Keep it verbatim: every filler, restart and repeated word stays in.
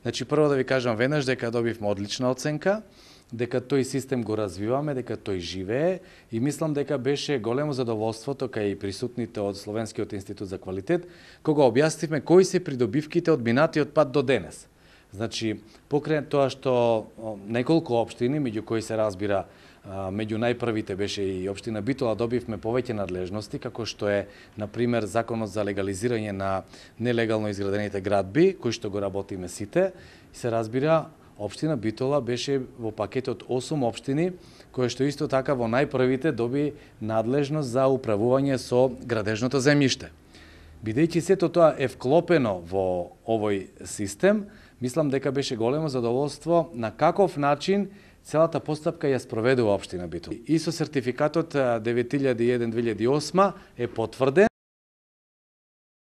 Значи, прво да ви кажам веднаш дека добивме одлична оценка, дека тој систем го развиваме, дека тој живее и мислам дека беше големо задоволството кај присутните од Словенскиот институт за квалитет, кога објаснивме кои се придобивките од минатиот пат до денес. Значи, покрај тоа што неколку општини, меѓу кои се разбира, меѓу најпрвите беше и општина Битола, добивме повеќе надлежности, како што е, например, законот за легализирање на нелегално изградените градби, кои што го работиме сите, и се разбира, општина Битола беше во пакет од осум општини, кои што исто така во најпрвите доби надлежност за управување со градежното земјиште. Бидејќи сето тоа е вклопено во овој систем, мислам дека беше големо задоволство на каков начин целата постапка ја спроведува општина Битола. И со сертификатот девет илјади и еден две илјади и осма е потврден.